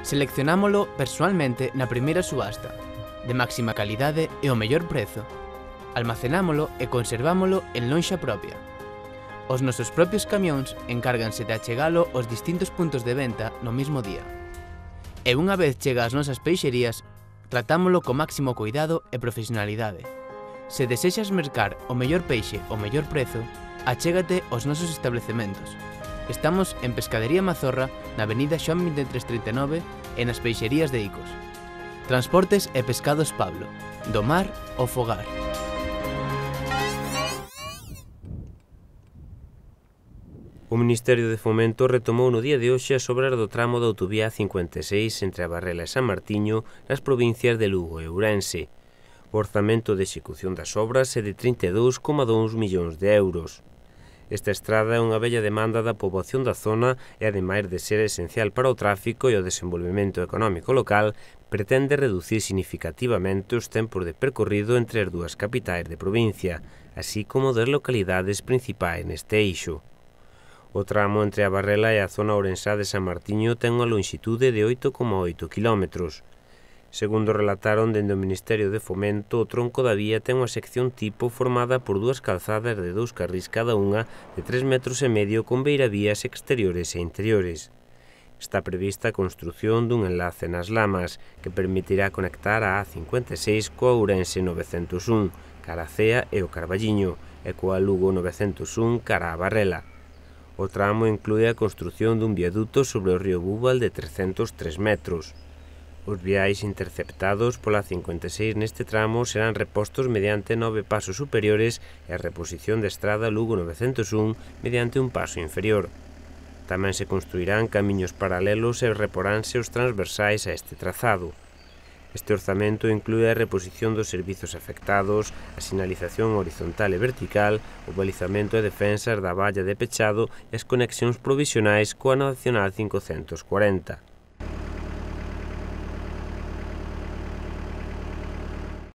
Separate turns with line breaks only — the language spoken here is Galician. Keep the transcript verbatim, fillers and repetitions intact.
Seleccionámolo persoalmente na primeira subasta, de máxima calidade e o mellor prezo. Almacenámolo e conservámolo en lonxa propia. Os nosos propios camións encárganse de achegalo aos distintos puntos de venta no mesmo día. E unha vez chega ás nosas peixerías, tratámolo co máximo cuidado e profesionalidade. Se desexas mercar o mellor peixe ao mellor prezo, achégate aos nosos establecementos. Estamos en Pescadería Mazorra, na avenida Xoán vinte e tres trinta e nove e nas peixerías de Icos. Transportes e Pescados Pablo, do mar ao fogar.
O Ministerio de Fomento retomou no día de hoxe as obras do tramo da autovía A cincuenta e seis entre a Barrela e San Martiño nas provincias de Lugo e Ourense. O orzamento de execución das obras é de trinta e dous coma dous millóns de euros. Esta estrada é unha bella demanda da poboación da zona e, ademais de ser esencial para o tráfico e o desenvolvemento económico local, pretende reducir significativamente os tempos de percorrido entre as dúas capitais de provincia, así como das localidades principais neste eixo. O tramo entre a Barrela e a zona ourensá de San Martiño ten unha lonxitude de oito coma oito quilómetros. Segundo relataron dende o Ministerio de Fomento, o tronco da vía ten unha sección tipo formada por dúas calzadas de dous carrís cada unha de tres metros e medio con beiravías exteriores e interiores. Está prevista a construción dun enlace nas Lamas que permitirá conectar a A cincuenta e seis coa Ourense novecentos un, cara a Cea e o Carballiño, e coa Lugo novecentos un cara a Barrela. O tramo inclúe a construción dun viaduto sobre o río Búbal de trescentos tres metros. Os viais interceptados pola cincuenta e seis neste tramo serán repostos mediante nove pasos superiores e a reposición de estrada Lugo novecentos un mediante un paso inferior. Tamén se construirán camiños paralelos e reporánse os transversais a este trazado. Este orzamento inclúe a reposición dos servizos afectados, a sinalización horizontal e vertical, o balizamento e defensas da valla de pechado e as conexións provisionais coa Nacional cincocentos cuarenta.